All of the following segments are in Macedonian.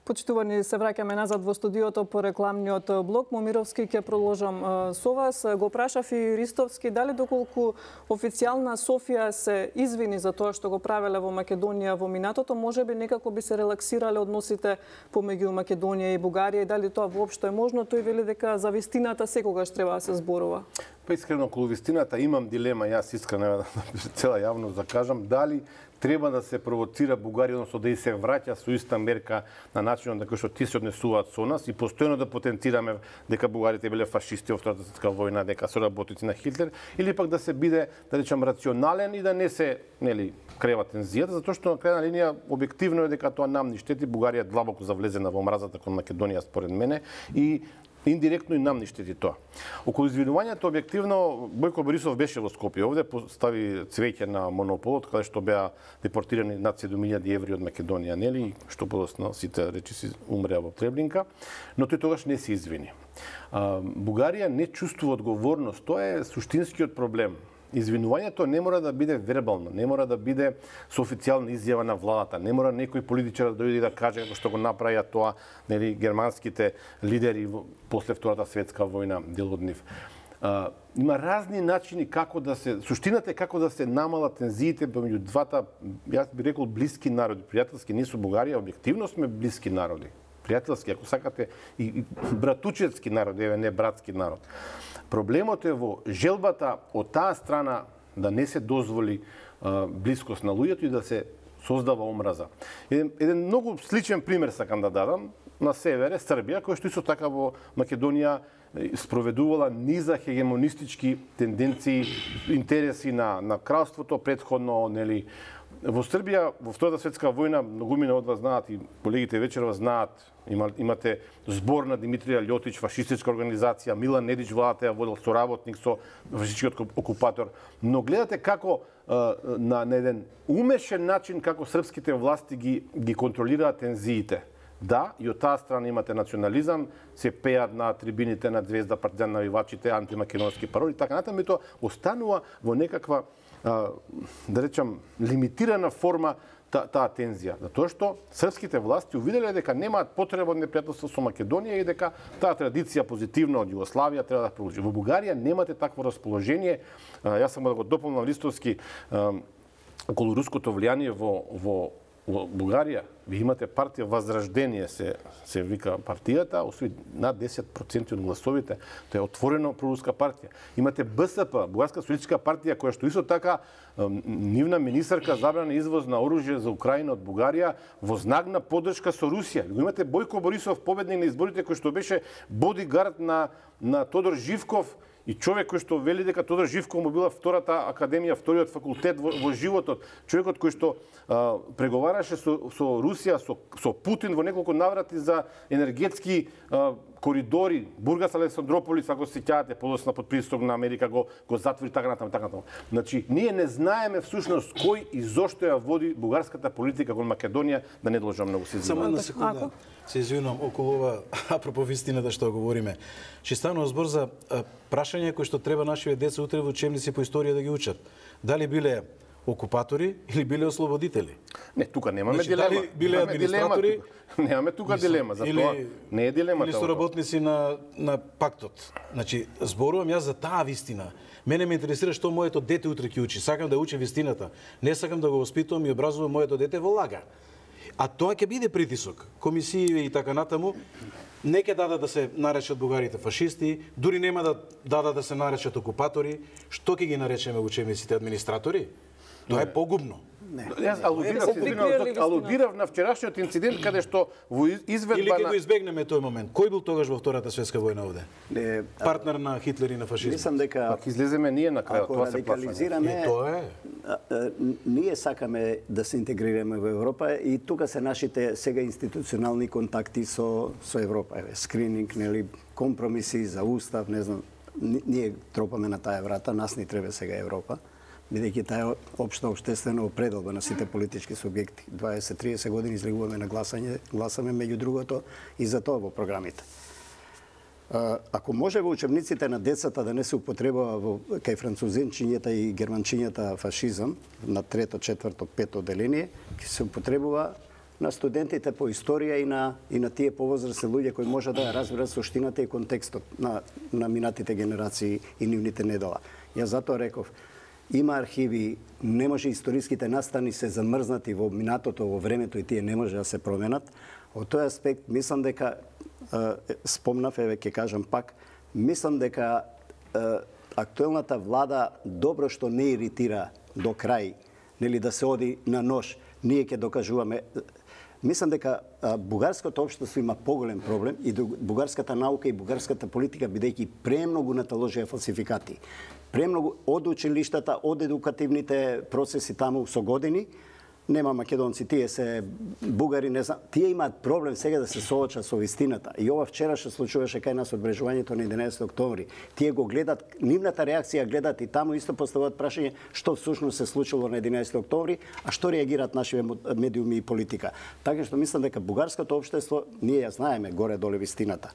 Почитувани, се враќаме назад во студиото по рекламниот блок. Момировски, ќе продолжам со вас. Го прашав и Ристовски дали доколку официјална Софија се извини за тоа што го правеле во Македонија во минатото, можеби некако би се релаксирале односите помеѓу Македонија и Бугарија и дали тоа воопшто е можно. Тој вели дека за вистината секогаш треба да се зборува. Па искрено околу вистината имам дилема, јас искрено цела јавност да кажам, дали треба да се провоцира Бугарија, односно да и се враќа со иста мерка на начинот на кој што ти се однесуваат со нас и постојано да потенцираме дека бугарите биле фашисти во Втората светска војна, дека се работници на Хитлер, или пак да се биде, да речам, рационален и да не се, нели, крева тензијата, затоа што на крајна линија објективно е дека тоа нам ни штети. Бугарија длабоко завлезена во мразата кон Македонија според мене и индиректно и нам ни штети тоа. Околу извинувањето објективно Бојко Борисов беше во Скопје. Овде постави цвеќе на монополот каде што беа депортирани над 7.000 еври од Македонија, нели, што подоцна сите речиси умреа во Требнинка, но тој тогаш не се извини. Бугарија не чувствува одговорност, тоа е суштинскиот проблем. Извинувањето не мора да биде вербално, не мора да биде со официјална изјава на владата, не мора некој политичар да дојде и да каже како што го направија тоа, нели, германските лидери после Втората светска војна, дел од нив. Има разни начини како да се, суштината е како да се намалат тензиите помеѓу двата, јас би рекол, блиски народи, пријателски. Ние со Бугарија објективно сме блиски народи, пријателски, ако сакате, и братучетски народи, еве не братски народ. Проблемот е во желбата од таа страна да не се дозволи блискост на луѓето и да се создава омраза. Еден многу сличен пример сакам да дадам. На севере Србија, која што исто така во Македонија спроведувала низа хегемонистички тенденции, интереси на кралството претходно, нели. Во Србија, во Втората светска војна, многумина од вас знаат и колегите вечерва знаат, имате збор на Димитрија Лјотич, фашистичка организација, Милан Недич владата ја водел соработник со фашистичкиот окупатор. Но гледате како на еден умешен начин како српските власти ги контролираат тензиите. Да, и од таа страна имате национализам, се пеат на трибините на Звезда, Партизан, навивачите, антимакедонски пароли, така натаму, и тоа останува во некаква, да речам, лимитирана форма таа тензија. Затоа што српските власти увиделе дека немаат потреба од непријателство со Македонија и дека таа традиција позитивна од Југославија треба да продолжи. Во Бугарија немате такво расположение. Јас сам да го дополнам Ристовски околу руското влијание во Бугарија. Ви имате партија Возрождение, се вика партијата, освои над 10% од гласовите. Тоа е отворено проруска партија. Имате БСП, Бугарска социјалистичка партија, која што исто така нивна министарка забрана извоз на оружје за Украина од Бугарија во знак на поддршка со Русија. Го имате Бојко Борисов, победник на изборите, кој што беше бодигард на Тодор Живков, и човек кој што вели дека Тодор Живков му била втората академија, вториот факултет во животот, човекот кој што преговараше со Русија, со Путин во неколку наврати за енергетски коридори, Бургас Александрополис, ако се сеќавате, подоцна под притисок на Америка го затвори така натаму. Значи, ние не знаеме всушност кој и зошто ја води бугарската политика кон Македонија, да не должам многу се извинувам. Само една секунда. Се извинувам околу ова, апропо вистината што говориме. Ќе станува збор за прашање кои што треба нашите деца утре во учебници по историја да ги учат. Дали биле окупатори или биле ослободители? Не, тука немаме значи, дилема. Дали биле администратори? Немаме тука дилема, затоа не е дилемата. Или соработници на пактот. Значи, зборувам јас за таа вистина. Мене ме интересира што моето дете утре ќе учи. Сакам да учи вистината. Не сакам да го воспитувам и образувам моето дете во лага. А тоа ќе биде притисок. Комисии и така натаму не ќе дадат да се наречат бугарите фашисти, дури нема да дадат да се наречат окупатори. Што ќе ги наречеме учебниците, администратори? Тоа е погубно. Јас алудирав на вчерашниот инцидент каде што во изведба или ќе го избегнеме тој момент. Кој бил тогаш во Втората светска војна овде? Партнер на Хитлер и на фашизмот. Мислам дека пак излеземе ние на крајот, тоа се плашаме. Тоа е. Ние сакаме да се интегрираме во Европа и тука се нашите сега институционални контакти со Европа. Скрининг, нели, компромиси за устав, не знам. Ние тропаме на таа врата, нас ни треба сега Европа, бидејќи таа општа општествена определба на сите политички субјекти. 20-30 години излегуваме на гласаме меѓу другото и за тоа во програмите. Ако може во учебниците на децата да не се употребува кај французинчињата и германчињата фашизам на трето, четврто, пето одделение, ќе се употребува на студентите по историја и на тие повозрасни луѓе кои може да разберат суштината и контекстот на минатите генерации и нивните недела. Јас затоа реков, има архиви, не може историските настани се замрзнати во минатото, во времето и тие не може да се променат. Од тој аспект мислам дека спомнав, еве ќе кажам пак, мислам дека актуелната влада добро што не иритира до крај, нели да се оди на нож, ние ќе докажуваме. Мислам дека бугарското општество има поголем проблем и бугарската наука и бугарската политика бидејќи премногу наталожија фалсификати. Премногу од училиштата, од едукативните процеси таму со години, нема македонци, тие се бугари, не знам, тие имаат проблем сега да се соочат со вистината. И ова вчера што случуваше кај нас одбрежувањето на 11 октомври. Тие го гледат, нивната реакција гледат и таму исто поставуваат прашање што всушност се случило на 11 октомври, а што реагираат нашите медиуми и политика. Така што мислам дека бугарското општество, ние ја знаеме горе-доле вистината.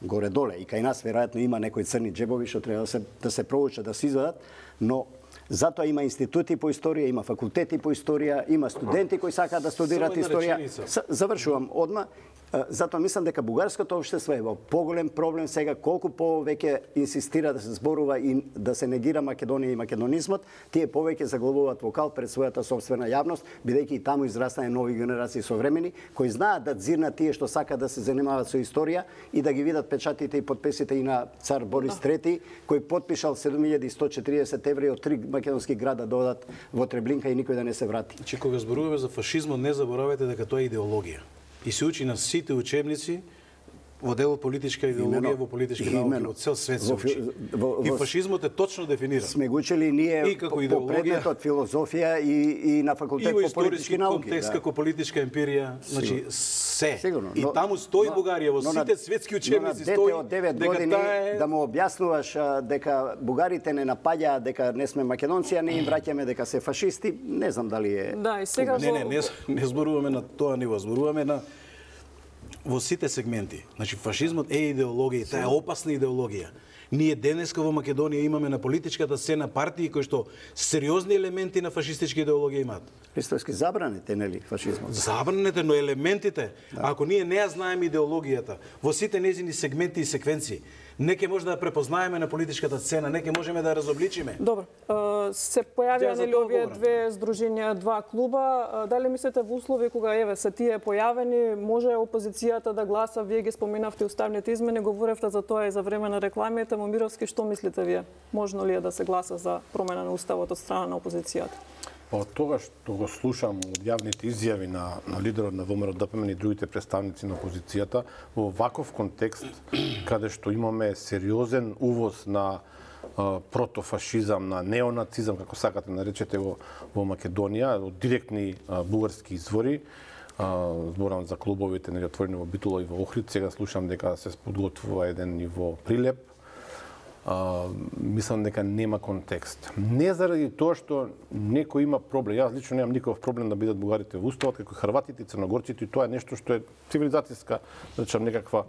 Горе-доле и кај нас веројатно има некои црни џебови што треба да се проучат, да се извадат, но затоа има институти по историја, има факултети по историја, има студенти кои сакаат да студираат историја. Завршувам одма. Затоа мислам дека бугарското општество е во поголем проблем сега, колку повеќе инсистира да се зборува и да се негира Македонија и македонизмот, тие повеќе заглавуваат вокал пред својата собствена јавност, бидејќи и таму израстане нови генерации современи кои знаат да дзирнат тие што сакаат да се занимаваат со историја и да ги видат печатите и подписите и на цар Борис III, кој потпишал 7140 еври од 3 македонски града да одат во Треблинка и никој да не се врати. Че кога зборуваме за фашизмот, не заборавајте дека тоа е идеологија. И се учи на сите учебници во делот политичка идеологија, во политички науки, во цел свет се учи. И фашизмот е точно дефиниран. Сме го учили ние по предметот филозофија и на факултет по политички науки. И во историски контекст како политичка емпирија, значи се. И таму стои Бугарија, во сите светски учебници стои од 9 години да му објаснуваш дека бугарите не напаѓаат, дека не сме македонци, а не им враќаме дека се фашисти, не знам дали е. Да, и сега не зборуваме на тоа ниво, зборуваме на во сите сегменти. Значи, фашизмот е идеологија, таа е опасна идеологија. Ние денеска во Македонија имаме на политичката сцена партии кои што сериозни елементи на фашистичка идеологија имаат. Исторски забранете, нели, фашизмот? Забранете, но елементите, ако ние не ја знаеме идеологијата во сите незини сегменти и секвенции, не ќе може да ја препознаеме на политичката сцена, не ќе можеме да ја разобличиме. Добро. Се појавија нели овие две здруженја, два клуба. Дали мислите во услови кога еве се тие појавени, може опозицијата да гласа? Вие ги споменавте уставните измени, говоревте за тоа и за време на рекламите. Момировски, што мислите вие? Можно ли е да се гласа за промена на уставот од страна на опозицијата? Од тоа што го слушам од јавните изјави на лидерот на ВМРО-ДПМН и другите представници на опозицијата, во ваков контекст, каде што имаме сериозен увоз на протофашизам, на неонацизам, како сакате наречете го во Македонија, од директни бугарски извори, зборам за клубовите нели отворени во Битола и во Охрид, сега слушам дека се подготвува еден и во Прилеп. Мислам дека нема контекст. Не заради тоа што некој има проблем. Јас лично немам никаков проблем да бидат бугарите во уставот, како хрватите и црногорците, и тоа е нешто што е цивилизацијска, да речам некаква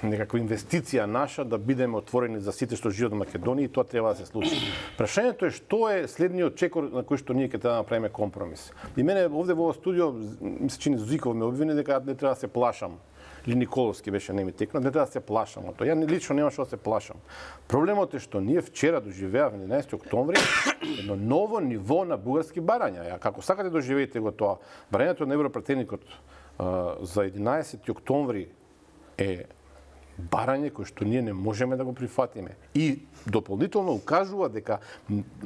инвестиција наша да бидеме отворени за сите што живеат во Македонија и тоа треба да се случи. Прашањето е што е следниот чекор на кој што ние ќе треба да направиме компромис. И мене овде во студио ми се чини Зиков ме обвини дека не треба да се плашам. Или Николовски беше не ми текна, не треба да се плашам од тоа. Ја лично нема што да се плашам. Проблемот е што ние вчера доживеавме 11 октомври едно ново ниво на бугарски барања. Ја како сакате доживеете го тоа. Барањето на европратеникот за 11 октомври е барање кој што ние не можеме да го прифатиме. И дополнително укажува дека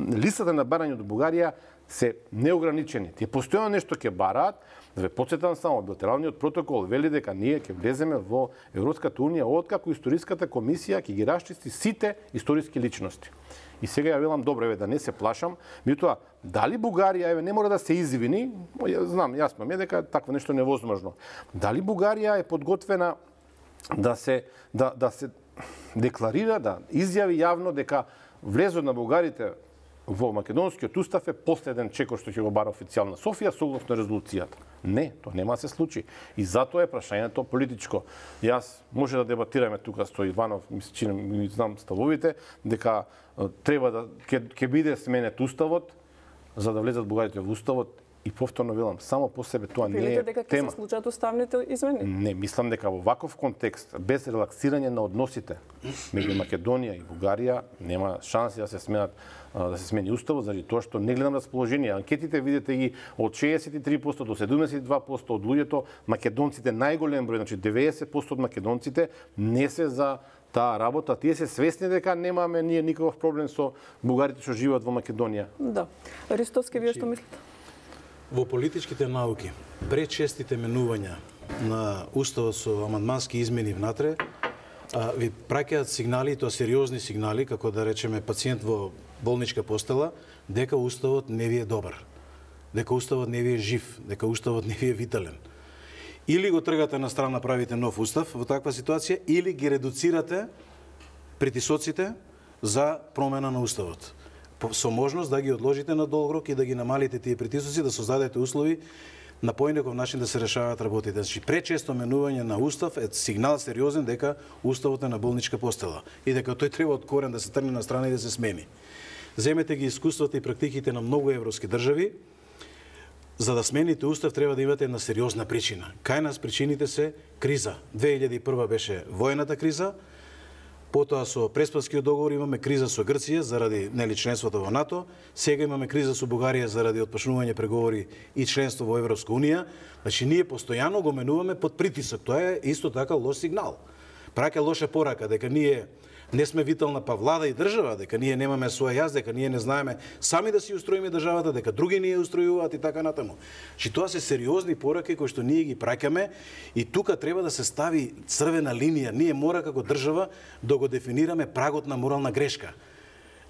листата на барање од Бугарија се неограничени. Тие постојано нешто ќе бараат. Да ве потсетам само, билатералниот протокол вели дека ние ќе влеземе во Европската унија откако историската комисија ќе ги расчисти сите историски личности. И сега ја велам добро, еве да не се плашам, меѓутоа дали Бугарија еве не мора да се извини, знам јасно ми е дека такво нешто невозможно. Дали Бугарија е подготвена да се декларира, да изјави јавно дека влезот на бугарите во македонскиот устав е последен чекор што ќе го бара официјална Софија согласно резолуцијата. Не, тоа нема да се случи. И затоа е прашањето политичко. Јас може да дебатираме тука со Иванов, ми знам ставовите, дека треба да ќе биде сменет уставот за да влезат бугарите во уставот И повторно велам, само по себе тоа не Велите е дека ќе тема. се случат уставните измени? Не, мислам дека во ваков контекст, без релаксирање на односите меѓу Македонија и Бугарија, нема шанси да се смени уставот, заради тоа што не гледам расположение. Анкетите видите ги од 63% до 72% од луѓето, македонците најголем број, значи 90% од македонците не се за таа работа. Тие се свесни дека немаме ние никаков проблем со бугарите што живеат во Македонија. Да. Ристовски, вие што мислите? Во политичките науки, пречестите менувања на уставот со амандмански измени внатре, ви праќаат сигнали, и тоа сериозни сигнали, како да речеме пациент во болничка постела, дека уставот не ви е добар, дека уставот не ви е жив, дека уставот не ви е витален. Или го тргате на страна, правите нов устав во таква ситуација, или ги редуцирате притисоците за промена на уставот. Со можност да ги одложите на долг рок и да ги намалите тие притисоци, да создадете услови на поинаков начин да се решаваат работите. Значи, пречесто менување на устав е сигнал сериозен дека уставот е на болничка постела и дека тој треба од корен да се тргне на страна и да се смени. Земете ги искуствата и практиките на многу европски држави. За да смените устав треба да имате една сериозна причина. Кај нас причините се криза. 2001 беше воената криза, потоа со Преспанскиот договор имаме криза со Грција заради членството во НАТО, сега имаме криза со Бугарија заради отпочнување преговори и членство во Европска унија. Значи ние постојано го менуваме под притисок. Тоа е исто така лош сигнал. Праќа лоша порака дека ние не сме витална влада и држава, дека ние немаме своја јас, дека ние не знаеме сами да си устроиме државата, дека други ни ја устројуваат и така натаму. Чи тоа се сериозни пораки кои што ние ги праќаме и тука треба да се стави црвена линија. Ние мора како држава да го дефинираме прагот на морална грешка.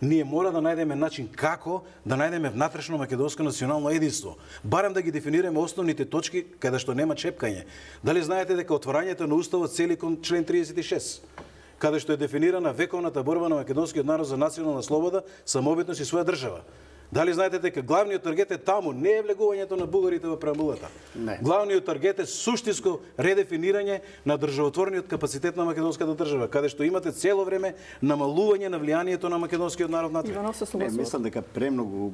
Ние мора да најдеме начин како да најдеме внатрешно македонско национално единство. Барем да ги дефинираме основните точки каде што нема чепкање. Дали знаете дека отворањето на уставот цели кон член 36? Каде што е дефинирана вековната борба на македонскиот народ за национална слобода, самобитност и своја држава. Дали знаете дека главниот таргет е таму, не е влегувањето на бугарите во преамбулата. Не. Главниот таргет е суштинско редефинирање на државотворниот капацитет на македонската држава, каде што имате цело време намалување на влијанието на македонскиот народ натре. Иванов се Не, согласува. мислам дека премногу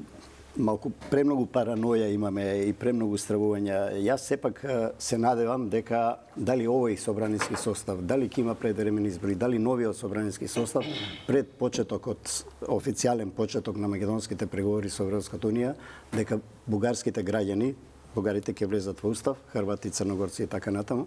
параноја имаме и премногу стравувања. Јас сепак се надевам дека дали овој собраниски состав, дали ќе има предвремени избори, дали новиот собраниски состав пред почетокот, официјален почеток на македонските преговори со Европската унија, дека бугарските граѓани, бугарите ќе влезат во устав, хрвати, црногорци и така натаму,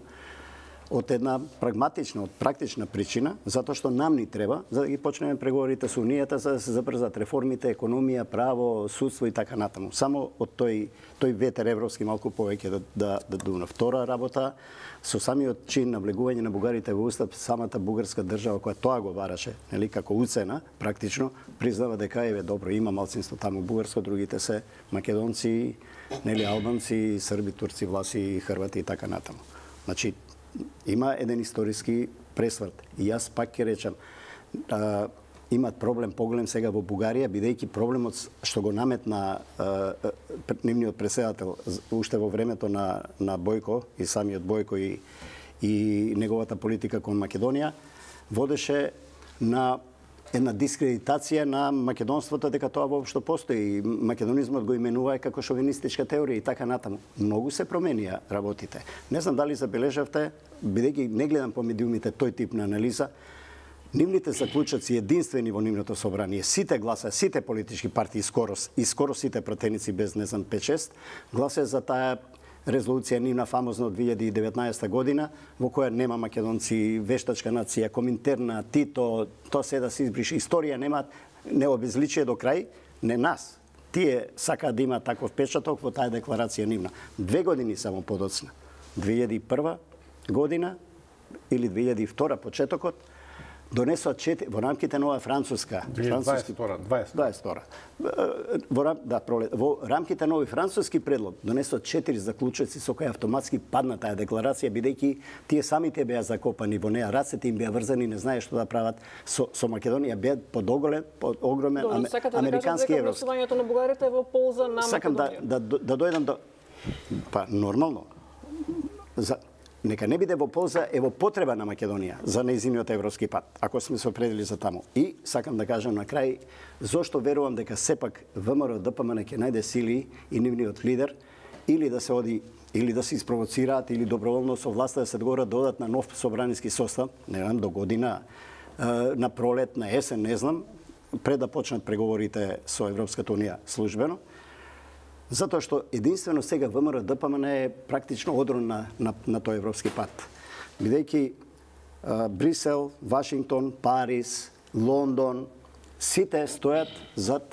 од една прагматична, од практична причина, затоа што нам ни треба за да ги почнеме преговорите со Унијата, за да се забрзат реформите, економија, право, судство и така натаму. Само од тој ветер европски малку повеќе да дуна. Втора работа, со самиот чин на влегување на бугарите во устав, самата бугарска држава која тоа го бараше, нели, како уцена, практично, признава дека еве добро, има малцинство таму бугарско, другите се македонци, нели, албанци, срби, турци, власи, хрвати и така натаму. Значи, има еден историски пресврт. И јас пак ќе речам, имат проблем поголем сега во Бугарија, бидејќи проблемот што го наметна нивниот претседател уште во времето на Бојко и самиот Бојко и неговата политика кон Македонија, водеше на една дискредитација на македонството дека тоа воопшто постои. Македонизмот го именува како шовинистичка теорија и така натаму. Многу се променија работите. Не знам дали забележавте, бидејќи не гледам по медиумите тој тип на анализа, нивните заклучоци единствени во нивното собрание, сите гласа, сите политички партии скоро сите пратеници без не знам 5-6 гласа за таа резолуција нивна фамозна од 2019 година, во која нема македонци, вештачка нација, Коминтерна, Тито, тоа се да се избрише. Историја нема, не обезличие до крај, не нас. Тие сакаат да има таков печаток во таа декларација нивна. 2 години само подоцна. 2001 година или 2002 почетокот, донесоа во рамките на оваа француска, 22. Во рамките на овој француски предлог донесоа 4 заклучоци со кои автоматски падна таа декларација, бидејќи тие самите беа закопани во неа, рацете им беа врзани, не знае што да прават со Македонија, беа под огромен американски европски. Гласувањето на бугарите е во полза на Македонија. Сакам да дојдам до нормално. Нека не биде во полза, е во потреба на Македонија за нејзиниот европски пат, ако сме се определили за таму. И сакам да кажам на крај, зошто верувам дека сепак ВМРО ДПМН ќе најде сили и нивниот лидер или да се оди или да се испровоцираат или доброволно со власта да се договорат додат на нов собраниски состав, не знам, до година, на пролет, на есен, не знам, пред да почнат преговорите со Европската унија службено. Затоа што единствено сега ВМРО ДПМН е практично одрон на тој европски пат. Бидејќи Брисел, Вашингтон, Париз, Лондон, сите стојат зад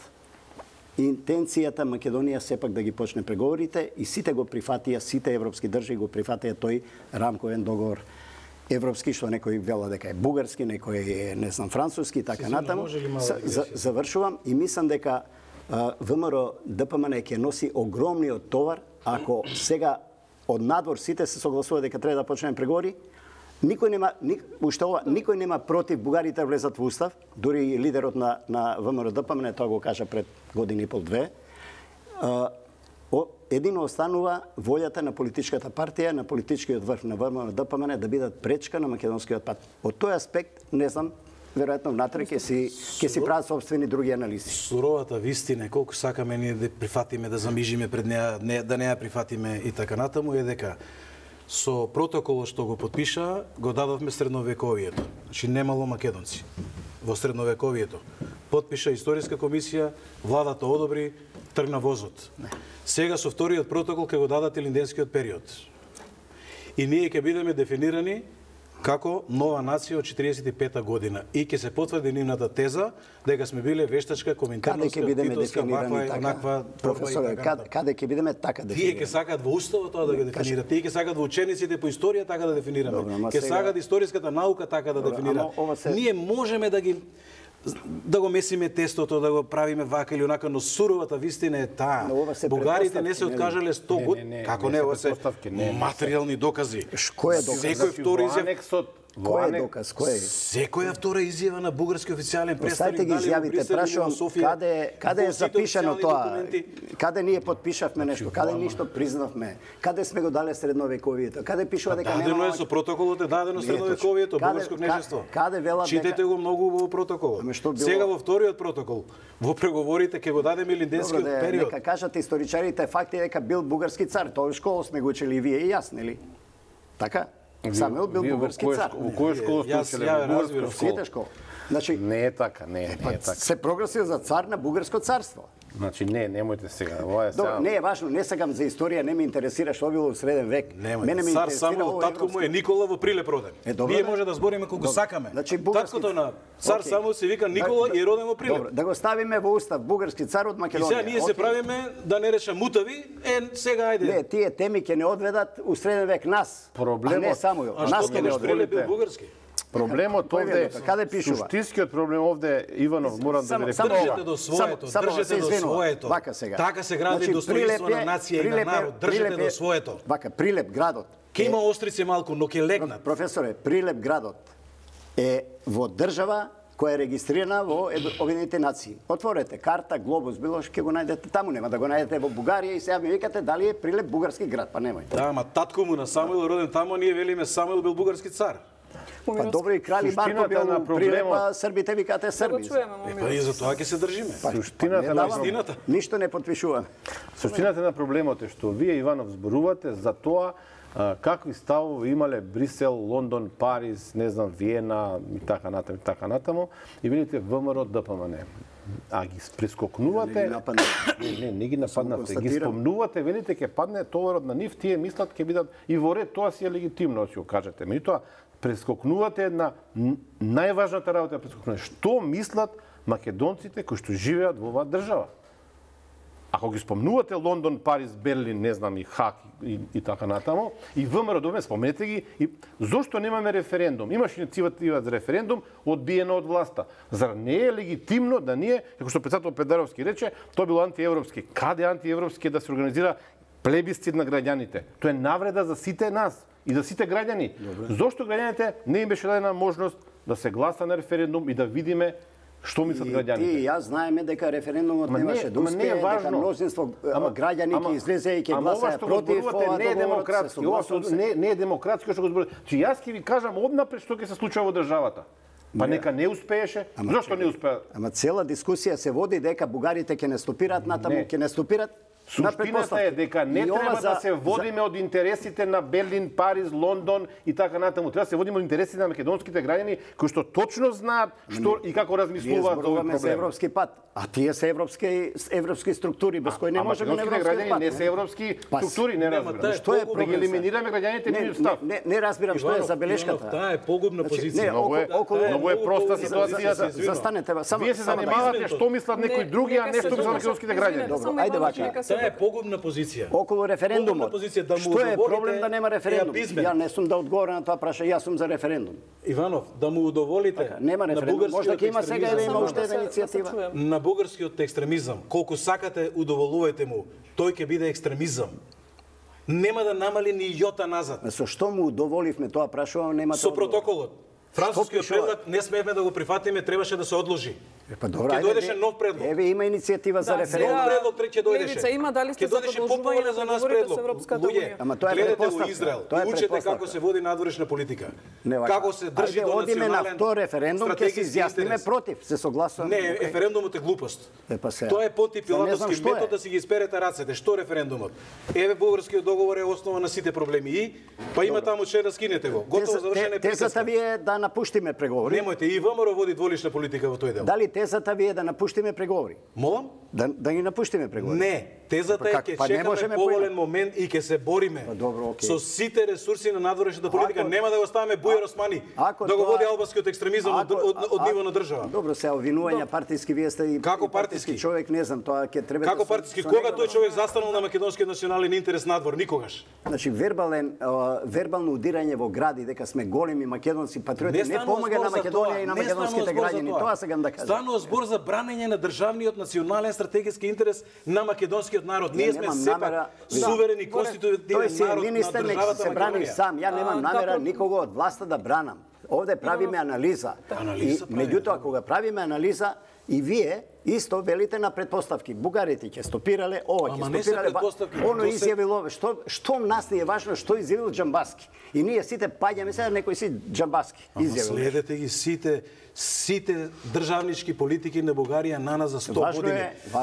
интенцијата Македонија сепак да ги почне преговорите и сите го прифатија, сите европски држави го прифатија тој рамковен договор европски, што некој вела дека е бугарски, некој е, не знам, француски, така натаму. Завршувам и мислам дека ВМРО ДПМН ќе носи огромниот товар ако сега од надвор сите се согласуваат дека треба да почнеме преговори. Никој нема против бугарите да влезат во устав, дури и лидерот на ВМРО ДПМН тоа го кажа пред година и пол-две. Едино останува волјата на политичката партија, на политичкиот врв на ВМРО ДПМН да бидат пречка на македонскиот пат. Од тој аспект, не знам, веројатно внатре ќе си прават собствени други анализи. Суровата вистина, колку сакаме ние да прифатиме, да замижиме пред неа, да не ја прифатиме и така натаму, е дека со протоколот што го подпиша, го дадовме средновековието. Значи немало македонци во средновековието. Подпиша историска комисија, владата одобри, тргна возот. Сега со вториот протокол ќе го дадат илинденскиот период. И ние ќе бидеме дефинирани како нова нација од 45-та година и ќе се потврди нивната теза дека сме биле вештачка, коминтерновска, титовска, ваква и онаква професоре, каде ќе бидеме така дефинирани? Тие ќе сакаат во уставот тоа да го дефинираат, тие ќе сакаат во учениците по историја така да дефинираме. Ќе сакаат историската наука така да дефинираат. Ние можеме да го месиме тестото, да го правиме вака или онака, но суровата вистина е таа. Бугарите не се откажале 100 години. Како не, ова се материјални докази. Кој е доказ? Секој втори изјава. Кој е доказ? Кој е? Секоја втора изјава на бугарски официјален представник, Оставете ги изјавите, прашувам, каде е запишано тоа? Каде ние подпишавме нешто? Каде ништо признавме? Каде сме го дале средновековието? Каде пишува дека нема? Дадено е со протоколот, е дадено средновековието, бугарско кнежество. Каде велат дека? Читете го многу во протоколот. Сега во вториот протокол, во преговорите ќе го дадеме илинденскиот период. Нека кажат историчарите факти дека бил бугарски цар, тоа во школа сме го учели и вие и јас, нели? Така? Самуил бил бугарски цар. Во која школа сте учеле? Во сите школа. Значи, не е така, не е така. Се прогласил за цар на бугарско царство. Значи немојте сега. Ова е сега. Не е важно, не сакам за историја, не ме интересира што било во среден век. Мене ме цар Самуил, татко му е Никола во Прилеп роден. Ние може да збориме колку сакаме. Значи, таткото на цар Самуил се вика Никола и е роден во Прилеп. Добро, да го ставиме во устав бугарски цар од Македонија. И сега ние се правиме да не реша мутави, сега ајде. Не, тие теми ќе не одведат у среден век нас. Проблемот, а не Самуил. Нас ќе не одведат. Проблемот овде, каде пишува? Суштинскиот проблем овде, Иванов, морам да ви рекам. Држете до своето, држете до своето. Така се гради достоинство на нација и на народ. Држете до своето. Вака, Прилеп градот. Ке има острици малку, но ке легнат. Професоре, Прилеп градот е во држава која е регистрирана во Обединетите нации. Отворете карта, глобус, било што ќе го најдете таму, нема да го најдете во Бугарија и сега ми викате дали е Прилеп бугарски град, па немој. Да, ама татко му на Самуил роден таму, ние велиме Самуил бил бугарски цар. Па добро и крали Марко бил на Прилепа, србите викате срби. Па и за тоа ќе се држиме. Суштината на истината. Ништо не потпишуваме. Суштината на проблемот е што вие, Иванов, зборувате за тоа какви ставови имале Брисел, Лондон, Париз, не знам, Виена и така натаму, и видите ВМРО ДПМН. А ги прескокнувате, не ги нападнавте, ги спомнувате, велите ќе падне товарот на нив, тие мислат ќе бидат и во ред, тоа си е легитимно, си го кажете. Меѓутоа, прескокнувате една најважната работа, прескокнувате. Што мислат македонците кои што живеат во оваа држава? Ако ги спомнувате Лондон, Париз, Берлин, не знам, и Хак и така натаму, и ВМРО ДПМН, спомнете ги, и зошто немаме референдум? Имаш инициатива за референдум, одбиено од власта. Зар не е легитимно да ние, како што председател Педаровски рече, тоа било антиевропски. Каде антиевропски да се организира плебисцит на граѓаните? Тоа е навреда за сите нас и за сите граѓани. Зошто граѓаните не им беше дадена можност да се гласа на референдум и да видиме што мислат граѓаните? И јас знаеме дека референдумот немаше да успее, дека мнозинство граѓани ќе излезе и ќе гласаат против ова. Не е демократски, не е демократски што го зборувате. Че јас ќе ви кажам однапред што ќе се случува во државата. Па нека не успееше. Зошто не успеа? Ама цела дискусија се води дека бугарите ќе не стопираат натаму, ќе не стопираат. Суштината е дека не треба да се водиме од интересите на Берлин, Париз, Лондон и така натаму. Треба да се водиме од интересите на македонските граѓани кои што точно знаат што и како размислуваат за овој проблем. За европски пат, а тие се европски структури без кои не можеме на европски граѓани не се европски структури, не разбирам. Што е да ги елиминираме граѓаните нивниот став? Не разбирам што е забелешката. Таа е погубна позиција. Многу е проста ситуацијата. Застанете, само вие се занимавате што мислат некои други, а не што за македонските граѓани. Добро, ајде вака. Таа е погубна позиција. Околу референдумот. Што е проблем да нема референдум? Ја не сум да одговорам на тоа прашање, јас сум за референдум. Иванов, да му удоволите нема референдум, можда ќе има сега има уште една иницијатива. На бугарскиот екстремизам, колку сакате удоволувате му, тој ќе биде екстремизам. Нема да намали ни јота назад. Со што му удоволивме тоа прашувам, нема со протоколот. Францускиот предлог не смеевме да го прифатиме, требаше да се одложи. Па добро, ќе дојдеше нов предлог. Еве има иницијатива за референдум. Нов предлог ќе дојдеше. Левица има, дали сте за продолжување за нас предлог? Луѓе, ама тоа е гледате претпоставка. во Израел, Тоа е учете претпоставка. како се води надворешна политика. Не, Како се држи до одиме на национален втор референдум, ќе се изјасниме против, се согласувам. Не, референдумот е глупост. Тоа е Понти Пилатовски метод да си ги исперете рацете. Што референдумот? Еве бугарскиот договор е основа на сите проблеми и па има таму член да скинете го. Готово завршена Тезата ви е да напуштиме преговори. Немојте, и ВМРО води дволична политика во тој дел. Дали тезата ви е да напуштиме преговори? Молам? Да ги напуштиме преговори. Не, тезата е ќе чекаме поволен момент и ќе се бориме со сите ресурси на надворешната политика. Нема да го ставаме Бујар Османи да го води албанскиот екстремизам од ниво на држава. Добро, се обвинување партиски, вие сте и како партиски човек, не знам, тоа ќе треба. Како партиски? Кога тој човек застанал на македонскиот национален интерес надвор? Никогаш. Значи вербално удирање во гради дека сме големи македонски патриоти не помага на Македонија и на македонските граѓани. Тоа сакам да кажам. Станува збор за бранење на државниот национален стратегиски интерес на македонскиот народ. Ние сме сепак суверени конститутивен народ на државата се брани сам. Ја немам намера никого од власта да бранам. Овде правиме анализа. И меѓутоа кога правиме анализа и вие исто велите на предпоставки. Бугарите ќе стопирале, ова ќе стопирале, оно изјавило, што нас не е важно што изјавил Џамбаски. И ние сите паѓаме сега некој си Џамбаски изјавил. Следете ги сите државнички политики на Бугарија на нас за 100 години.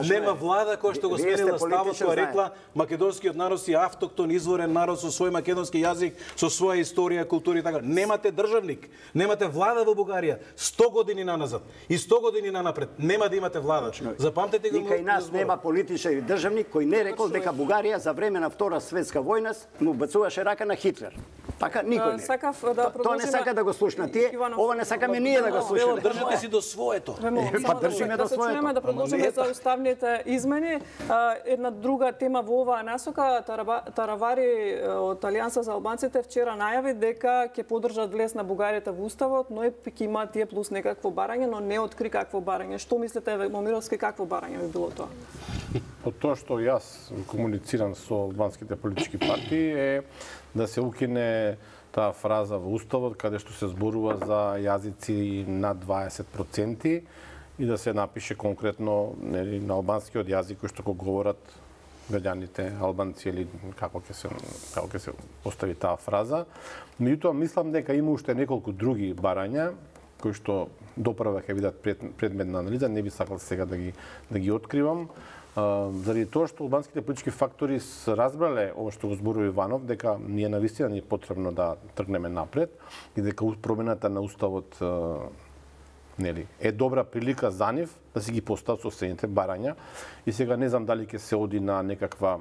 Нема влада која што го сменила ставот, која рекла македонскиот народ си автоктон изворен народ со свој македонски јазик, со своја историја, култура и така. Немате државник, немате влада во Бугарија 100 години наназад и 100 години нанапред. Нема да имате влада. Запамтете го. И кај нас нема политичар и државник кој не рекол дека Бугарија за време на Втора светска војна му бацуваше рака на Хитлер. Така никој не. Тоа не сака да го слушна тие, ова не сакаме ние да го слушаме. Држите си до своето. Па држиме до своето. Да продолжиме за уставните измени. Една друга тема во оваа насока, Таравари од Алијанса за албанците вчера најави дека ќе поддржат влез на бугарите во уставот, но ќе има тие плюс некакво барање, но не откри какво барање. Што мислите, Момировски, какво барање би било тоа? Од тоа што јас комуницирам со албанските политички партии е да се укине таа фраза во уставот каде што се зборува за јазици над 20% и да се напише конкретно на албанскиот јазик кој што го говорат граѓаните албанци или како ќе се постави таа фраза. Меѓутоа мислам дека има уште неколку други барања кои што доправа ќе бидат предмет на анализа, не би сакал сега да ги откривам. Заради тоа што албанските политички фактори разбрале ова што го зборува Иванов, дека ние навистина ни е потребно да тргнеме напред и дека промената на уставот е добра прилика за нив да си ги постават соседните барања. И сега не знам дали ќе се оди на некаква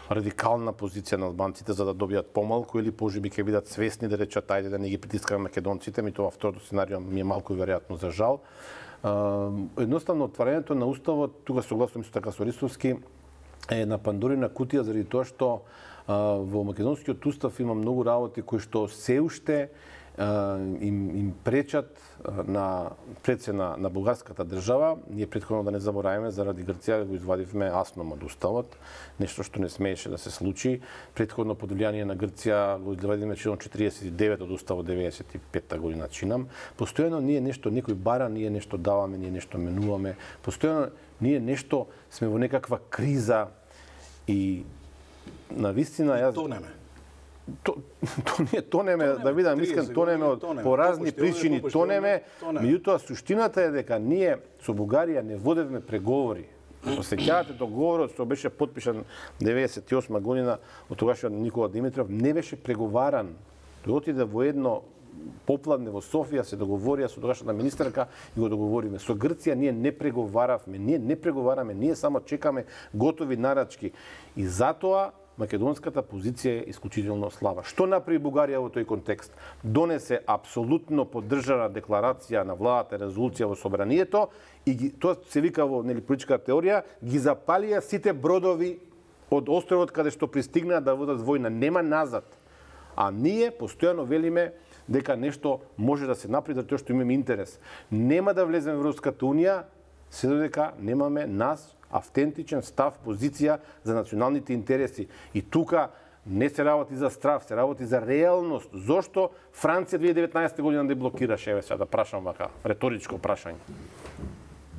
радикална позиција на албанците за да добијат помалку или можеби ќе бидат свесни да речат ајде да не ги притискаме македонците, тоа второто сценарио ми е малку веројатно за жал. Едноставно отварањето на уставот, тука согласно исто така со Ристовски, е на Пандорина кутија заради тоа што во македонскиот устав има многу работи кои што се уште им пречат на предсе на бугарската држава. Ние претходно да не забораваме заради Грција го извадивме асном од уставот, нешто што не смееше да се случи. Претходно под влијание на Грција го извадивме член 49 од уставот 95-та година чинам. Постојано ние нешто некој бара, ние нешто даваме, ние нешто менуваме. Постојано ние нешто сме во некаква криза и навистина јас тонеме, да видам искрен, тонеме по разни причини, тонеме, меѓутоа суштината е дека ние со Бугарија не водевме преговори Осеќавате договорот што беше потпишан 98 година од тогашниот Никола Димитров, не беше преговаран. Тој отиде во едно попладне во Софија, се договорија со тогашната министерка и го договориме. Со Грција ние не преговаравме, ние само чекаме готови нарачки. И затоа македонската позиција е исклучително слаба. Што направи Бугарија во тој контекст? Донесе апсолутно поддржана декларација на владата, резолуција во собранието и тоа се вика во политичка теорија, ги запалија сите бродови од островот каде што пристигнаа да водат војна. Нема назад. А ние постојано велиме дека нешто може да се направи затоа што имаме интерес. Нема да влеземе во Европската унија се додека немаме нас автентичен став, позиција за националните интереси. И тука не се работи за страв, се работи за реалност. Зошто Франција 2019 година да блокираше, еве сега да прашам вака, реторичко прашање.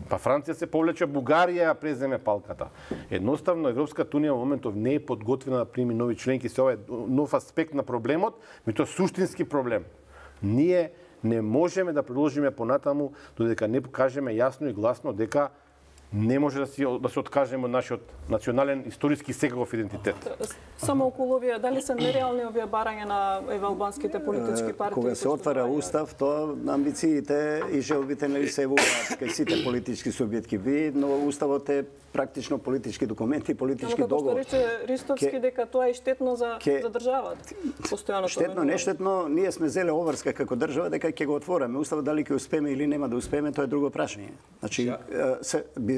Па Франција се повлече, Бугарија ја преземе палката. Едноставно Европската унија во моментов не е подготвена да прими нови членки, се ова е нов аспект на проблемот, меѓутоа суштински проблем. Ние не можеме да продолжиме понатаму додека не кажеме јасно и гласно дека не може да се откажеме од нашиот национален историски секаков идентитет. Само околу овие, дали се нереални овие барања на албанските политички партии? Кога се отвара устав, тоа амбициите и желбите се еволуваат кај сите политички субјекти, но уставот е практично политички документи, политички договор. Како што рече Ристовски дека тоа е штетно за државата. Постојано штетно, нештетно, ние сме зеле обврска како држава дека ќе го отвораме. Уставот дали ќе успееме или нема да успееме, тоа е друго прашање. Значи,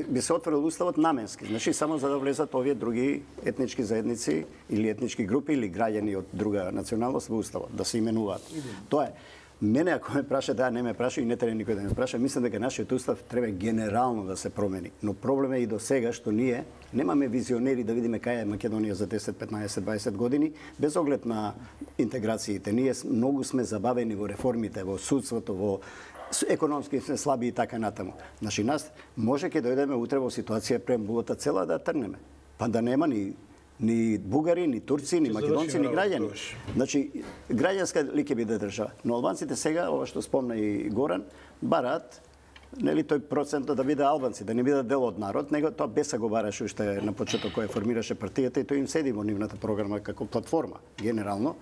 би се отворил уставот наменски, значи само за да влезат овие други етнички заедници или етнички групи или граѓани од друга националност во уставот, да се именуваат. Тоа е. Мене, ако ме праша, не ме праша и не треба никој да ме праша, мислам дека нашиот устав треба генерално да се промени. Но проблем е и до сега што ние немаме визионери да видиме кај е Македонија за 10, 15, 20 години, без оглед на интеграциите. Ние многу сме забавени во реформите, во судството, во економски сме слаби и така натаму. Значи нас може ќе дојдеме утре во ситуација преамбулата цела да трнеме. Па да нема ни бугари, ни турци, ни македонци, ни граѓани. Значи, граѓанска ли ќе биде држава? Но албанците сега, ова што спомна и Горан, бараат нели тој процент да биде албанци, да не бидат дел од народ, него тоа Беса го бараше уште на почеток кој формираше партијата и тој им седи во нивната програма како платформа, генерално.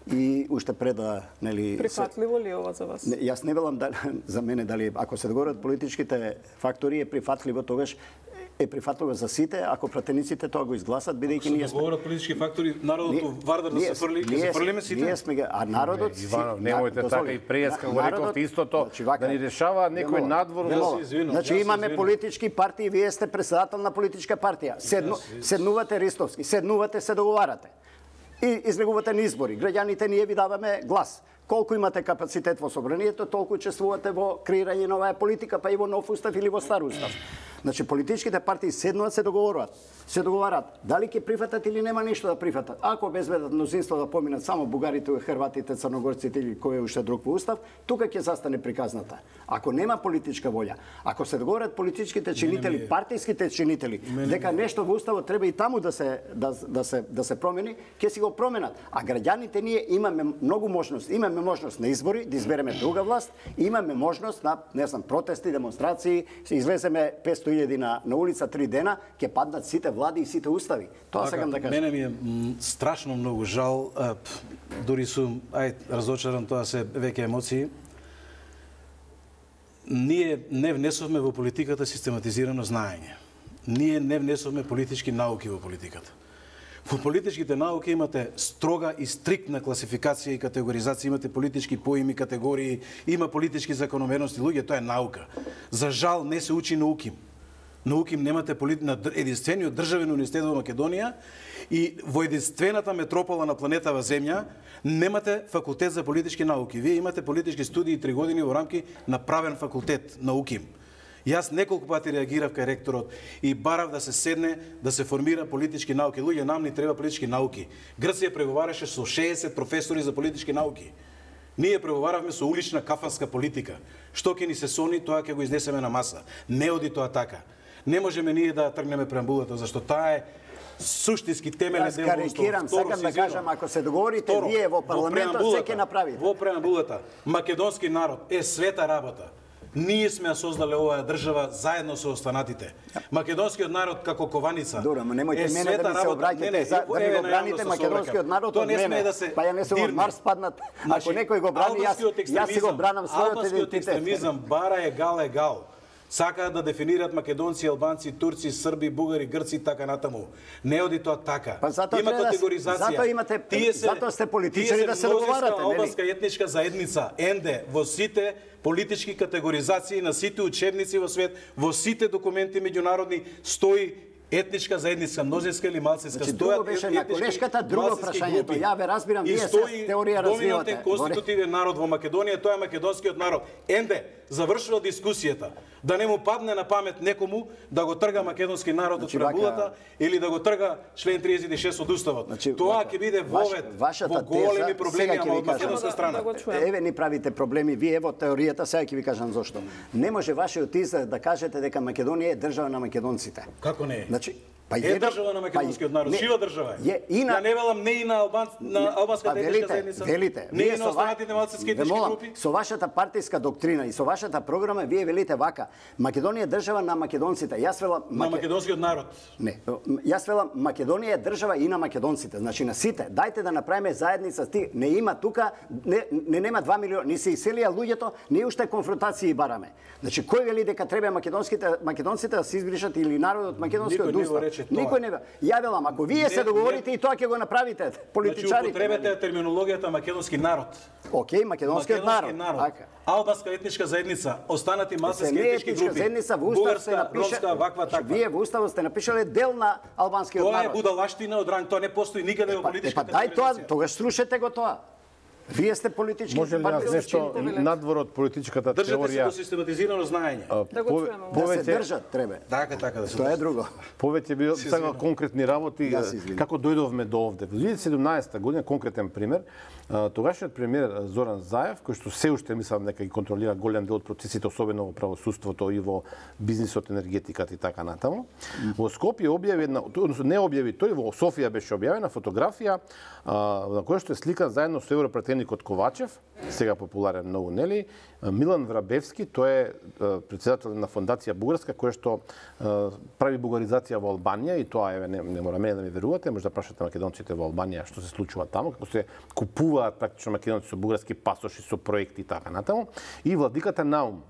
И уште пред да, нели... Прифатливо ли ова за вас? Јас не велам за мене дали, ако се договорат политичките фактори, е прифатливо тогаш, е прифатливо за сите, ако пратениците тоа го изгласат, бидејќи ние сме... Договорат политички фактори, народот Вардар да се фрли, ќе се фрлиме сите? Ние сме, а народот... Иванов, немојте така и преска, го рековте истото, да ни решава некој надвор... Значи имаме политички партии, вие сте председател на политичка партија. Седнувате Ристовски, седнувате, се договарате. И излегувате на избори. Граѓаните ние ви даваме глас. Колку имате капацитет во собранието, толку учествувате во креирање на оваа политика, па и во нов устав или во стар устав. Значи политичките партии седнуваат, се договарат. Дали ќе прифатат или нема ништо да прифатат. Ако обезбедат мнозинство да поминат само бугарите, хрватите, црногорците или кој е уште друг во устав, тука ќе застане приказната. Ако нема политичка волја, ако се договорат политичките чинители, партиските чинители, дека нешто во уставот треба и таму да се промени, ќе си го променат. А граѓаните ние имаме многу можност. Имаме можност на избори да избереме друга власт, имаме можност на, не знам, протести, демонстрации, се излеземе 500.000 на улица 3 дена, ќе паднат сите влади и сите устави. Тоа сакам да кажам. Мене ми е страшно многу жал, дури сум разочаран, тоа се веќе емоции. Ние не внесовме во политиката систематизирано знаење. Ние не внесовме политички науки во политиката. Во политичките науки имате строга и стриктна класификација и категоризација, имате политички поими, категории, има политички закономерности, луѓе, тоа е наука. За жал не се учи на УКИМ. На УКИМ немате на единствениот државен универзитет во Македонија и во единствената метропола на планетава Земја немате факултет за политички науки. Вие имате политички студии 3 години во рамки на правен факултет на УКИМ. Јас неколку пати реагирав кај ректорот и барав да се седне, да се формира политички науки. Луѓе, нам ни треба политички науки. Грција преговараше со 60 професори за политички науки. Ние преговаравме со улична кафанска политика. Што ќе ни се сони, тоа ќе го изнесеме на маса. Не оди тоа така. Не можеме ние да тргнеме преамбулата, зашто таа е суштински темелен дел во уставот. Карикирам, сакам да кажам, ако се договорите вие во парламентот, се ќе направите. Во преамбулата, македонски народ е света работа. Ние сме ја создале оваа држава заедно со останатите. Македонскиот народ како кованица. Добро, ама немојте мене да ми се обраќате за да ми го браните македонскиот народ од мене. Па ја не сум од Марс паднат. Ако некој го брани, јас си го бранам својот идентитет. Албанскиот екстремизам бара егал. Сакаат да дефинираат македонци, албанци, турци, срби, бугари, грци и така натаму. Не оди тоа така. Па има категоризација. Затоа сте политичари да се договарате, нели? Албанска етничка заедница, енде, во сите политички категоризации на сите учебници во свет, во сите документи меѓународни стои етничка заедница, мнозинска или малцинска. Значи, друго беше на колешката, друго прашањето. Ја ве разбирам, вие се теорија развивате. Доминантен конститутивен народ во Македонија, тоа е македонскиот народ. Енде, завршува дискусијата. Да не му падне на памет некому да го трга македонски народ од преамбулата или да го трга член 36 од уставот. Тоа ќе биде вовед во големи проблеми од македонска страна. Еве ни правите проблеми вие во теоријата, сега ќе ви кажам зошто. Не може вашиот израз да кажете дека Македонија е држава на македонците. Како не е? Значи, е држава на македонскиот народ, жива држава е. Ја не велам не и на албанската етничка заедница. Велите, не и на останатите малцински етнички групи. Со вашата партиска доктрина и со вашата програма вие велите вака: Македонија е држава на македонците. Јас велам на македонскиот народ. Не, јас велам Македонија е држава и на македонците. Значи на сите. Дајте да направиме заедница. Не има тука, нема 2 милиони, ни се иселија луѓето, ние уште конфронтации бараме. Значи кој вели дека треба македонците да се избришат или народот македонскиот устав? Никој не. Ја велам, ако вие се договорите и тоа ќе го направите, политичарите. Значи употребете терминологијата македонски народ. Океј, македонскиот народ. Албанска етничка заедница, останати малцински етнички групи. Бугарска, ромска, ваква таква. Вие во уставот сте напишале дел на албанскиот народ. Тоа е будалаштина од ранг, тоа не постои никаде во политичката организација. Па дај тоа, тогаш срушете го тоа. Вие сте политички. Може ли нешто надвор од политичката теорија? Држате се до систематизирано знаење. Да го чуеме. Да се држат треба. Така да се. Тоа е друго. Повеќе би сакал конкретни работи како дојдовме до овде. Во 2017 година конкретен пример, тогашниот премиер Зоран Заев, кој што се уште мислам дека ги контролира голем дел од процесите, особено во правосудството и во бизнисот, енергетиката и така натаму, во Скопје објави една, односно не објави тој, во Софија беше објавена фотографија на која што е сликан заедно со европратеникот Ковачев, сега популарен многу, нели, Милан Врабевски, тој е претседател на фондација бугарска која што прави бугаризација во Албанија и тоа не мора мене да ми верувате, може да прашате македонците во Албанија што се случува таму, како се купуваат практично македонци со бугарски пасоши, со проекти и така натаму, и владиката Наум.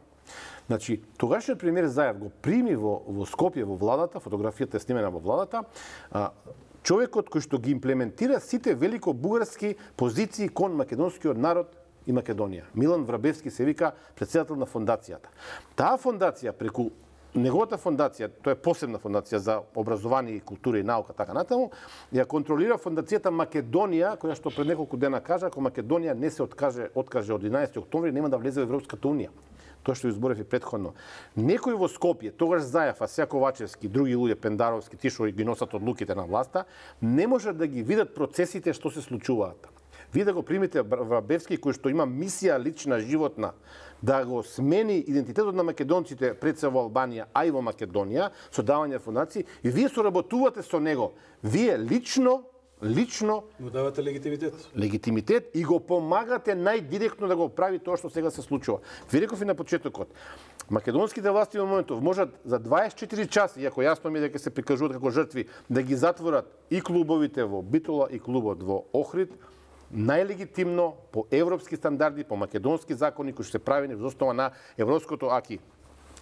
Значи, тогашниот премиер Заев го прими во Скопје во владата, фотографијата е снимена во владата, човекот кој што ги имплементира сите велико бугарски позиции кон македонскиот народ и Македонија. Милан Врабевски се вика претседател на фондацијата. Таа фондација преку неговата фондација, тоа е посебна фондација за образование и култура и наука, така натаму, ја контролира фондацијата Македонија, која што пред неколку дена кажа, ако Македонија не се откаже од 11 октомври, нема да влезе во Европската унија. Тоа што изборев и претходно. Некој во Скопје, тогаш Заев, а сега Ковачевски, други луѓе, Пендаровски, ти што ги носат одлуките на власта, не можат да ги видат процесите што се случуваат. Вие да го примите Врабевски, кој што има мисија лична, животна, да го смени идентитетот на македонците пред се во Албанија, а и во Македонија, со давање фондации, и вие соработувате со него. Вие лично му давате легитимитет и го помагате најдиректно да го прави тоа што сега се случува. Ви реков и на почетокот, македонските власти во моментов можат за 24 часа, иако јасно ми дека се прикажуваат како жртви, да ги затворат и клубовите во Битола и клубот во Охрид, најлегитимно по европски стандарди, по македонски закони кои се правени во основа на европското аки.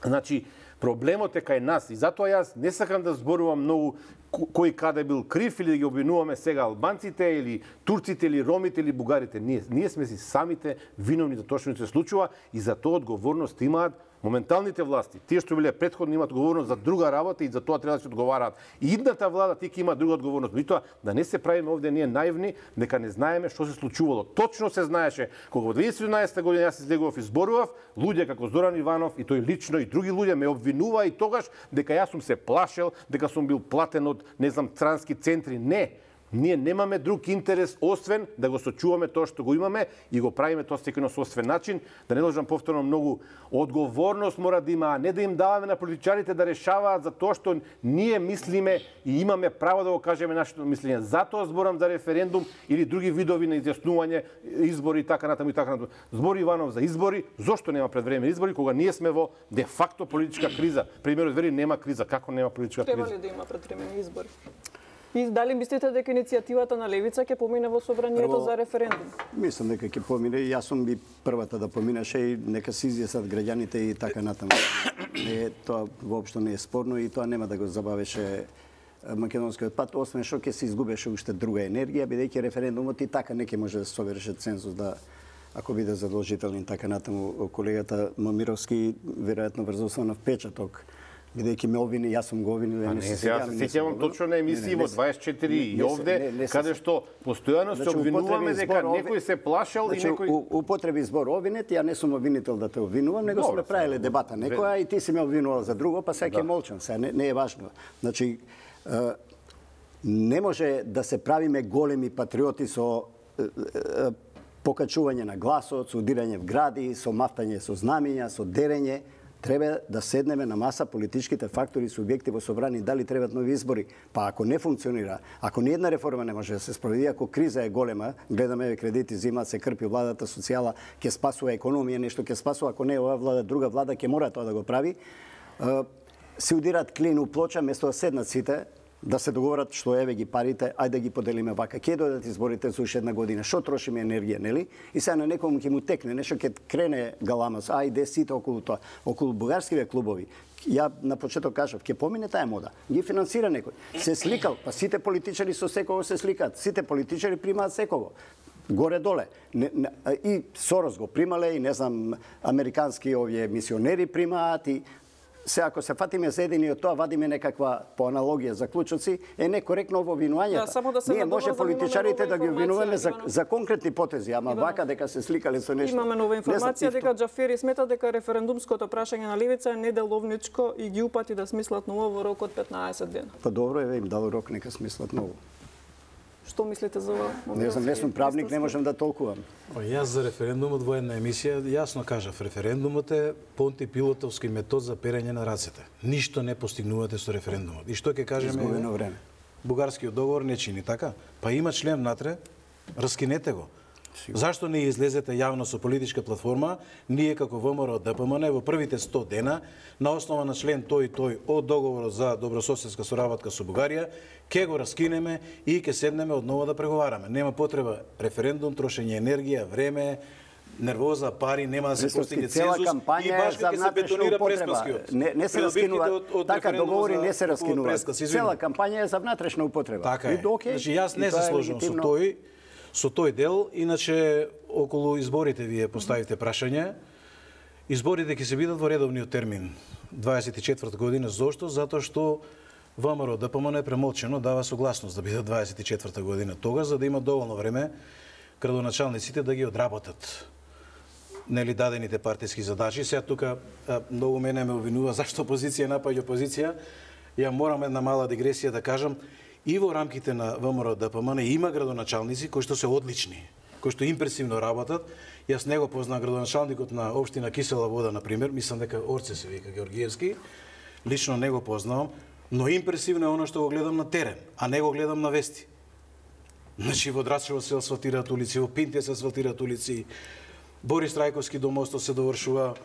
Значи, проблемот е кај нас и затоа јас не сакам да зборувам многу кој каде бил крив или да ги обвинуваме сега албанците или турците или ромите или бугарите. Ние сме си самите виновни за тоа што ни се случува и за тоа одговорност имаат моменталните власти. Тие што биле претходно имаат одговорност за друга работа и за тоа треба да се одговараат. И идната влада тие има друга одговорност. Меѓутоа да не се правиме овде ние наивни, дека не знаеме што се случувало. Точно се знаеше кога во 2017 година јас излегував и зборував, луѓе како Зоран Иванов и тој лично и други луѓе ме обвинуваа и тогаш дека јас сум се плашел, дека сум бил платен од, не знам, странски центри. Не. Ние немаме друг интерес освен да го сочуваме тоа што го имаме и го правиме тоа секој на собствен начин, да не должам повторно многу одговорност мора да има, а не да им даваме на политичарите да решаваат за тоа што ние мислиме и имаме право да го кажеме нашето мислење. Затоа зборам за референдум или други видови на изјаснување, избори и така натаму и така натаму. Збори Иванов за избори, зошто нема предвремени избори кога ние сме во де факто политичка криза? Премиерот вели нема криза, како нема политичка криза? Треба ли да има предвремени избори? И дали мислите дека иницијативата на Левица ќе помине во собранието за референдум? Мислам дека ќе помине и јас сум би првата да поминеше и нека се изјаснат граѓаните и така натаму. Тоа воопшто не е спорно и тоа нема да го забавеше македонскиот пат, освен што ќе се изгубеше уште друга енергија, бидејќи референдумот и така не ќе може да се соверши цензус да ако биде задолжителен така натаму. Колегата Момировски веројатно врз основа на впечаток, бидејќи ме обвини, јас сум го обвинил. Јас се сеќавам точно на емисии во 24 и овде, каде што постојано се обвинуваме дека некој се плашал и некој употреби збор обвинет, ја не сум обвинител да те обвинувам, него сме правеле дебата некоја и ти си ме обвинувал за друго, па сега ќе молчам, сега не е важно. Значи не може да се правиме големи патриоти со покачување на гласот, со удирање в гради, со мафтање со знамиња, со дерење. Треба да седнеме на маса политичките фактори и субјекти во собрани, дали требат нови избори. Па ако не функционира, ако ни една реформа не може да се спроведи, ако криза е голема, гледаме кредити зимаат, се крпи владата социјала, ќе спасува економија, нешто ќе спасува, ако не ова влада, друга влада ќе мора тоа да го прави. Се удираат клин у плоча, место да седнат сите, да се договорат што еве ги парите, ајде да ги поделиме вака. Ќе дојдат изборите за уште една година. Што трошиме енергија, нели? И сега на некому ќе му текне нешто, ќе крене галамас, ајде сите околу тоа, околу бугарските клубови. Ја на почеток кажав, ќе помине таа мода. Ги финансира некој. Се сликал, па сите политичари со секого се сликаат. Сите политичари примаат секого. Горе-доле. И Сорос го примале, и не знам, американски овие мисионери примаат, и се ако се фатиме за едини од тоа, вадиме некаква по аналогија заклучоци, е некоректно во обвинувањето. Ние може политичарите да ги обвинуваме за конкретни потези, ама вака дека се сликале со нешто. Имаме нова информација дека Џафери смета дека референдумското прашање на Левица е неделовничко и ги упати да смислат ново во рок од 15 дена. Па добро е, им дал рок, нека смислат ново. Што мислите за ова? Не знам, не сум правник, не можам да толкувам. Јас за референдумот во една емисија јасно кажав, референдумот е Понти Пилотовски метод за перење на рацете. Ништо не постигнувате со референдумот. И што ќе кажеме? Изгубено време. Бугарскиот договор не чини така. Па има член внатре, раскинете го. Зашто не излезете јавно со политичка платформа, ние како ВМРО ДПМН во првите 100 дена, на основа на член тој и тој од договорот за добрососедска соработка со Бугарија, ќе го раскинеме и ќе седнеме одново да преговараме. Нема потреба референдум, трошење енергија, време, нервоза, пари, нема да се постигне цензус и баш кога се бетонира преспаскиот. Не се раскинува, така договори не се раскинуваат. Цела кампања е за внатрешна употреба. Така е. Значи јас не се сложувам со тој дел, иначе околу изборите вие поставите прашање. Изборите ќе се бидат во редовниот термин 24 година. Зошто? Затоа што ВМРО ДПМН е премолчено, дава согласност да биде 24 година тога, за да има доволно време градоначалниците да ги одработат нели дадените партиски задачи. Сега тука многу мене ме обвинува зашто опозиција напаѓа опозиција. Ја морам една мала дигресија да кажам. И во рамките на ВМРО ДПМН има градоначалници кои што се одлични, кои што импресивно работат. Јас не го познавам градоначалникот на општина Кисела Вода, например, мислам дека Орце се вика Георгиевски, лично не го познавам, но импресивно е оно што го гледам на терен, а не го гледам на вести. Значи во Драчево се асфалтираат улици, во Пинте се асфалтираат улици, Борис Трајковски до мостот се довршува,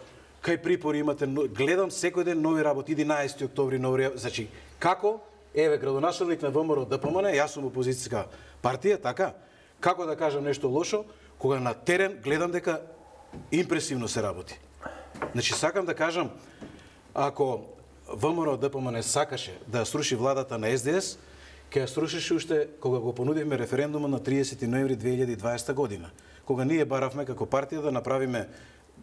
кај Припори имате, гледам секој ден нови работи, 11 октомври нови работи. Значи, како? Еве, градоначалник на ВМРО ДПМН, јас сум опозицијска партија, така? Како да кажам нешто лошо, кога на терен гледам дека импресивно се работи. Значи, сакам да кажам, ако ВМРО ДПМН сакаше да сруши владата на СДС, ќе ја срушеше уште кога го понудивме референдума на 30 ноември 2020 година. Кога ние баравме како партија да направиме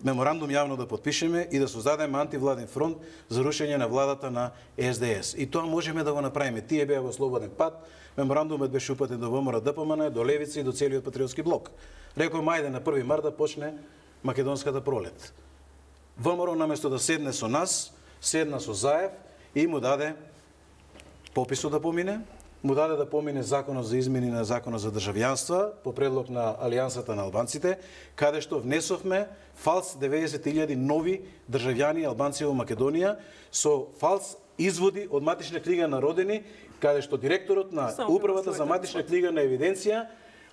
меморандум јавно да подпишеме и да создадеме антивладен фронт за рушење на владата на СДС. И тоа можеме да го направиме. Тие беа во слободен пат, меморандумот беше упатен до ВМРО ДПМН, до Левица и до целиот патриотски блок. Рекоме, ајде на 1 март да почне македонската пролет. ВМРО наместо да седне со нас, седна со Заев и му даде пописот да помине, му даде да помине законот за измени на законот за државјанства по предлог на Алијансата на албанците, каде што внесовме фалс 90.000 нови државјани албанци во Македонија со фалс изводи од матична книга на родени, каде што директорот на управата за матична книга на евиденција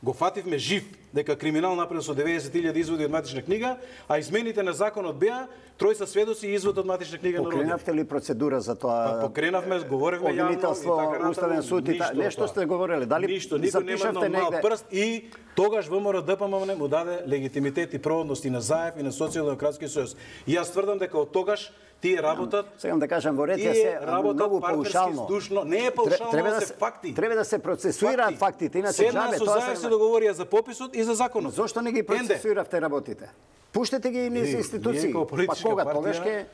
го фативме жив дека криминал направен со 90.000 изводи од матична книга, а измените на законот беа тројца сведоци и извод од матична книга на родени. Покренавте ли процедура за тоа? Покренавме, говоревме јавно и така Уставен суд и нешто сте говореле, дали ништо, никој нема на мал прст и тогаш ВМРО ДПМН му даде легитимитет и проводност и на ЗАЕВ и на Социјалдемократски сојуз. И јас тврдам дека од тогаш тие работат. Сакам да кажам, во Реција се многу паушално. Не е паушално, се факти. Треба да се процесуираат фактите, иначе џабе. Тоа се договорија за пописот и за законот. Зошто не ги процесуиравте работите? Пуштете ги низ институции. Па кога тогаш ќе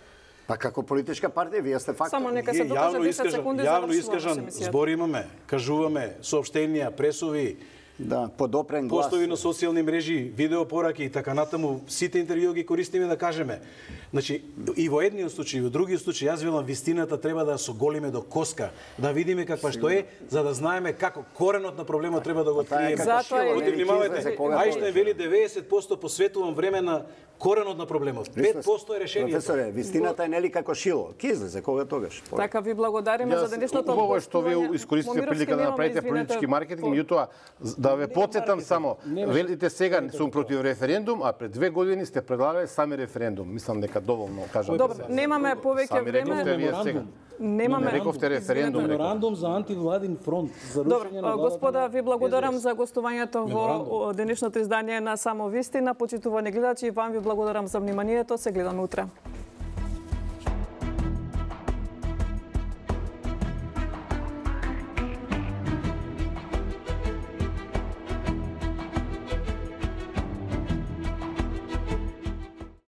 Па како политичка партија, вие сте фактор. Само нека се докаже 10 секунди за јавно искажан збор имаме, кажуваме, соопштенија, пресови, да, подопрен глас. Постови на социјални мрежи, видео пораки и така натаму, сите интервјуи ги користиме да кажеме. Значи, и во едниот случај, и во другиот случај, јас велам вистината треба да со голиме до коска, да видиме каква што е, за да знаеме како коренот на проблемот треба да го откриеме. Затоа внимавајте, Ајнштајн вели 90% посветувам време на коренот на проблемот. 5% е решението. Професоре, вистината е нели како шило. Ки излезе кога тогаш? Така ви благодариме за денешното Убаво е што вие искористите прилика да направите политички маркетинг, меѓутоа да ве потсетам само, велите сега сум против референдум, а пред 2 години сте предлагале сами референдум. Мислам дека доволно кажам. Добро, немаме повеќе време. Немаме рековте референдум. Меморандум за антивладин фронт за рушење на владата. Господа, ви благодарам за гостувањето во денешното издание на Само вистина. Почитувани гледачи, вам ви благодарам за вниманието. Се гледаме утре.